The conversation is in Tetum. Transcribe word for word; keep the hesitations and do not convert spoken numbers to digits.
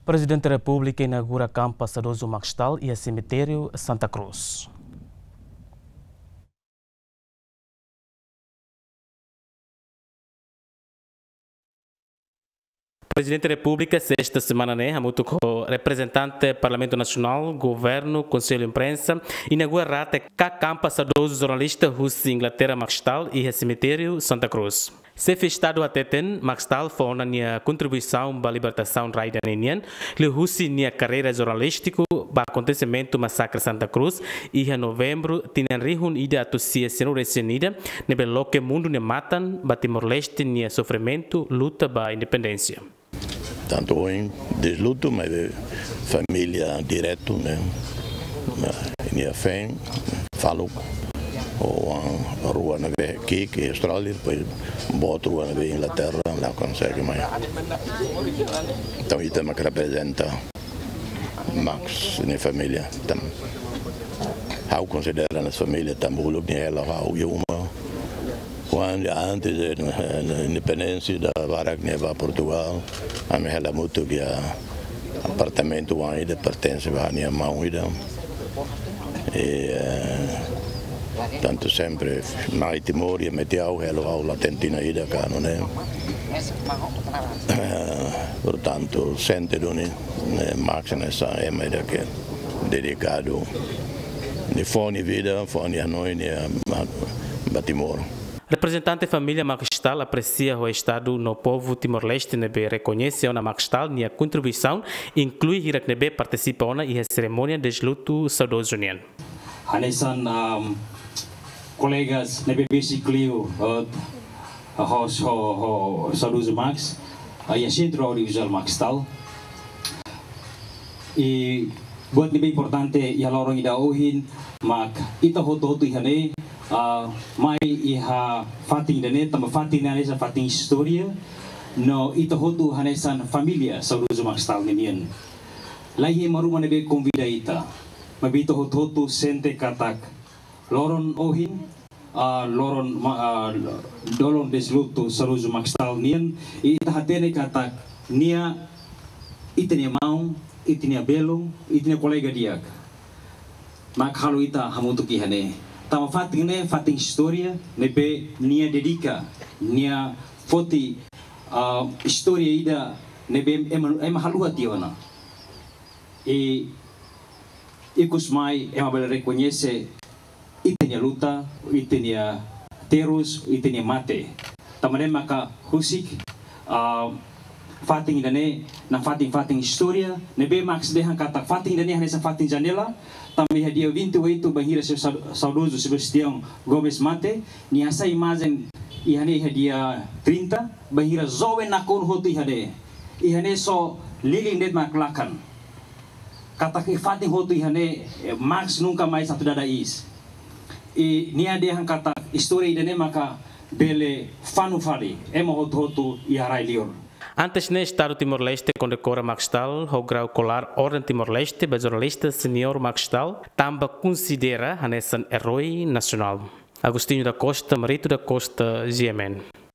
Prezidente Repúblika inaugura kampa saudozu Max Stahl iha semitériu Santa Cruz. Prezidente Repúblika, sesta semana ne'e, hamutuk ho reprezentante Parlamentu Nasionál, Governu, Konsellu Imprensa, inaugura rate ka kampa saudozu jornalista husi Inglaterra Max Stahl iha semitériu Santa Cruz. Xefe Estadu hateten, Max Stahl fó ona nia kontribuisaun ba libertasaun rai ida ninian, liuhusi nia karreira jornalístiku ba akontesimentu masakre Santa Cruz, iha Novembru, tinan rihun ida atus sia sianulu-resin-ida, ne'ebé loke mundu nia matan ba Timor-Leste nia sofrimentu luta ba independénsia. Tantu ohin deslutu, mas família diretu, ne'e? Nia feen, faluk, oan rua ne'ebé ki'ik iha Austrália, depois boot rua ne'ebé Inglaterra, la konsege mai. Entaun, ita mak reprezenta Max nia família. Tan, ha'u konsidera nia família, tan uluk nia hela ha'u iha uma. Kuandu antes de, eh, independénsia ida barak nia ba Portugal, ami hela hamutuk iha apartamentu oan ida pertense ba nia maun ida. E, eh, tantu sempre mai Timor, iha Metiau, hela ha'u la tentina ida ka no ne. Eh, portantu, sente duni, eh, Max hanesan ema ida ke dedikadu, nia fó nia vida, fó nia hanoin, nia, eh, ba Timor. Reprezentante família Max Stahl apresia ho Estadu no povu Timor-Leste ne'ebé rekoñese ona Max Stahl nia kontribuisaun, inklui hirak ne'ebé partisipa ona iha serimónia deslutu saudozu nian. Hanesan, um, kolegas ne'ebé besik liu, uh, ho, ho, ho saudozu Max, uh, iha Sentru Audiovizuál Max Stahl. I buat ne'ebé importante iha loron ida ohin, mak ita hotu-hotu iha ne'e, ah, mai iha fatin ida-ne'e, tanba fatin ne'e hanesan fatin istória, no ita hotu hanesan família saudozu Max Stahl ninian. Laiha ema ruma ne'ebé konvida ita, maibé ita hotu-hotu sente katak loron ohin, ah, loron ma-, ah, dolun deslutu saudozu Max Stahl nian, i ita hatene katak nia, ita-nia maun, ita-nia belun, ita-nia kolega di'ak mak halo ita hamutuk iha ne'e. Tanba fatin ne'e fatin istória ne'ebé nia dedika, nia foti, ah, istória ida ne'ebé ema, ema haluha tiha ona. I ikus mai ema bele rekoñese ita-nia luta, ita-nia terus, ita-nia mate. Tanba ne'e maka husik, ah, fatin ida-ne'e, nafatin-fatin istória, ne'ebé Max dehan katak fatin ida-ne'e hanesan fatin janela, tanba iha dia vinte e oito bainhira seu sau-, saudozu Sebastião Gomes mate, nia hasai imajen iha ne'e iha dia trinta, bainhira joven nakonu hotu iha ne'e. Iha ne'e só lilin de'it mak lakan. Katak iha fatin hotu iha ne'e, eh, Max nunka mais atu dada iis. I nia dehan katak istória ida-ne'e maka bele fanu fali ema hotu-hotu iha rai-liur. Antes ne'e, Estadu Timor-Leste kondekora Max Stahl ho grau kolar Orden Timor-Leste ba jornalista senior Max Stahl, tanba konsidera hanesan eroi nasionál. Agostinho da Costa, Marito da Costa, G M N.